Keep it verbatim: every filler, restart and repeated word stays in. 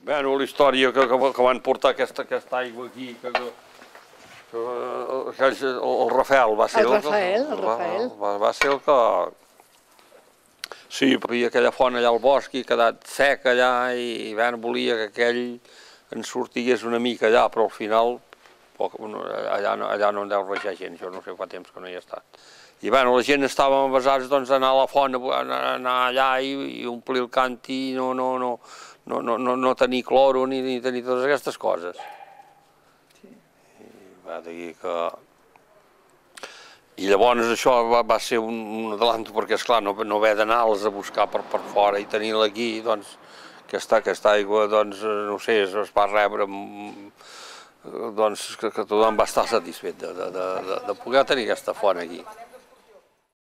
Bueno, la història que, que, que van portar aquesta, aquesta aigua aquí, que, que, que, que el, el Rafael va ser el, el, Rafael, el, va, Rafael. va, va ser el que... Sí, hi havia aquella font allà al bosc i ha quedat sec allà i bueno, volia que aquell en sortigués una mica allà, però al final poc, allà, no, allà no en deu rejar gent, jo no sé fa temps que no hi he estat. I bueno, la gent estava avasats doncs, d'anar a la font, anar allà i, i omplir el canti i no, no, no, no, no, no, no tenir cloro ni, ni tenir totes aquestes coses. Sí. I va dir que... I llavors això va, va ser un, un adelanto perquè, esclar, no, no haver d'anar-les a buscar per, per fora i tenir-la aquí, doncs, aquesta, aquesta aigua, doncs, no sé, es va rebre, doncs, que, que tothom va estar satisfet de, de, de, de poder tenir aquesta font aquí.